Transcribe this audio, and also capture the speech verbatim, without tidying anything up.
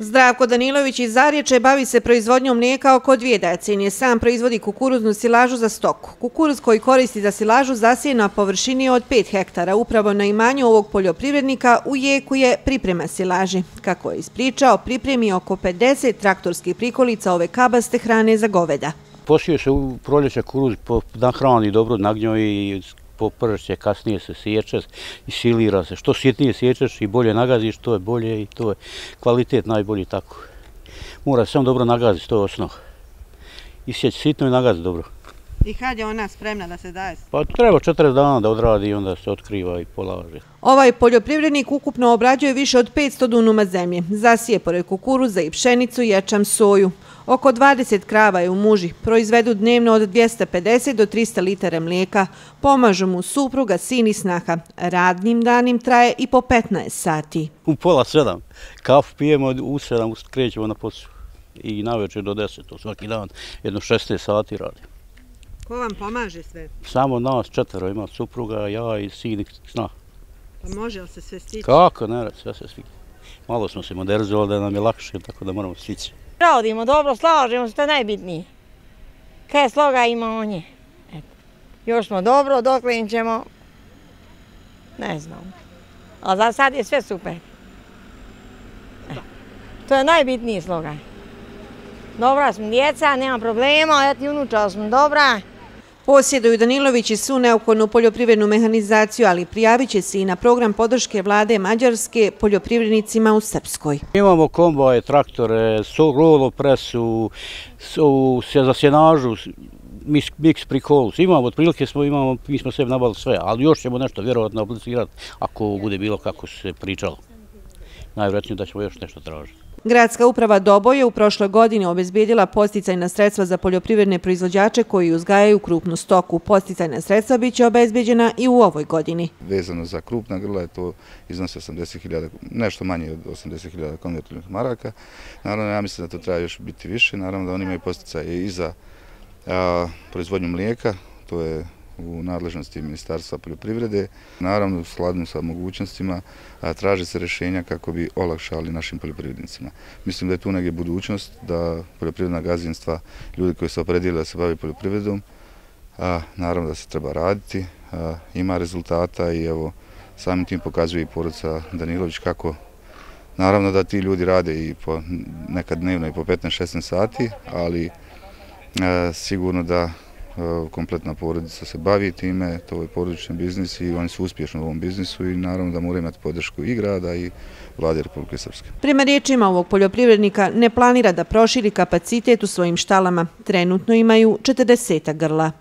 Zdravko Danilović iz Zarječe bavi se proizvodnjom mlijeka oko dvije decenije. Sam proizvodi kukuruznu silažu za stoku. Kukuruz koji koristi za silažu zasije na površini od pet hektara. Upravo na imanju ovog poljoprivrednika u jeku je priprema silaži. Kako je ispričao, pripremi oko pedeset traktorskih prikolica ove kabaste hrane za goveda. Posije se u proljeća kukuruz, nahrani dobro nagnjoj i popršće, kasnije se sječe i silira se. Što sitnije sječeš i bolje nagaziš, to je bolje i to je kvalitet najbolji tako. Mora se samo dobro nagaziti, to je osnov. Isjeći sitno i nagaziti dobro. I kad je ona spremna da se daje? Pa treba četrdeset dana da odradi i onda se otkriva i polaže. Ovaj poljoprivrednik ukupno obrađuje više od petsto dunuma zemlje. Zasije pored kukuruza i pšenicu, ječam, soju. Oko dvadeset krava je u muži. Proizvedu dnevno od dvjesto pedeset do trista litara mlijeka. Pomažu mu supruga, sin i snaha. Radnim danim traje i po petnaest sati. U pola sedam. Kafu pijemo, u sedam krećemo na posao. I navečer do deset. Svaki dan jedno šesnaest sati radim. Ko vam pomaže sve? Samo nas četvero ima, supruga, ja i sin i snah. Pa može li se sve stići? Kako, ne, sve se stići. Malo smo se modernizovali da nam je lakše, tako da moramo stići. Radimo dobro, slažemo se, to je najbitnije. Kaj sloga ima on je. Još smo dobro, doklen ćemo, ne znam. Ali za sad je sve super. To je najbitniji sloga. Dobra smo djeca, nema problema, eto i unuča smo dobra. Posjeduju Danilović i svu neophodnu poljoprivrednu mehanizaciju, ali prijavit će se i na program podrške vlade Mađarske poljoprivrednicima u Srpskoj. Imamo kombaje, traktore, rolo presu, za sjenažu, miks prikolus. Imamo, otprilike smo, imamo, mi smo sve nabavili sve, ali još ćemo nešto vjerovatno aplicirati ako bude bilo kako se pričalo. Najvjerojatnije da ćemo još nešto tražiti. Gradska uprava Doboj je u prošloj godini obezbijedila podsticajna sredstva za poljoprivredne proizvođače koji uzgajaju krupnu stoku. Podsticajna sredstva bit će obezbijeđena i u ovoj godini. Vezano za krupna grla je to iznosi osamdeset hiljada, nešto manje od osamdeset hiljada konvertibilnih maraka. Naravno, ja mislim da to treba još biti više. Naravno da oni imaju podsticaje i za a, proizvodnju mlijeka, to je u nadležnosti Ministarstva poljoprivrede. Naravno, u skladu sa mogućnostima traže se rješenja kako bi olakšali našim poljoprivrednicima. Mislim da je tu negdje budućnost da poljoprivredna gazdinstva, ljudi koji se opredijeli da se bavi poljoprivredom, a, naravno da se treba raditi, a, ima rezultata i evo samim tim pokazuje i porodica Danilović kako naravno da ti ljudi rade i po nekad dnevno i po petnaest šesnaest sati, ali a, sigurno da kompletna porodica se bavi time, to je porodični biznis i oni su uspješni u ovom biznisu i naravno da moraju imati podršku i grada i vlade Republike Srpske. Prema riječima ovog poljoprivrednika ne planira da proširi kapacitet u svojim štalama. Trenutno imaju četrdeset grla.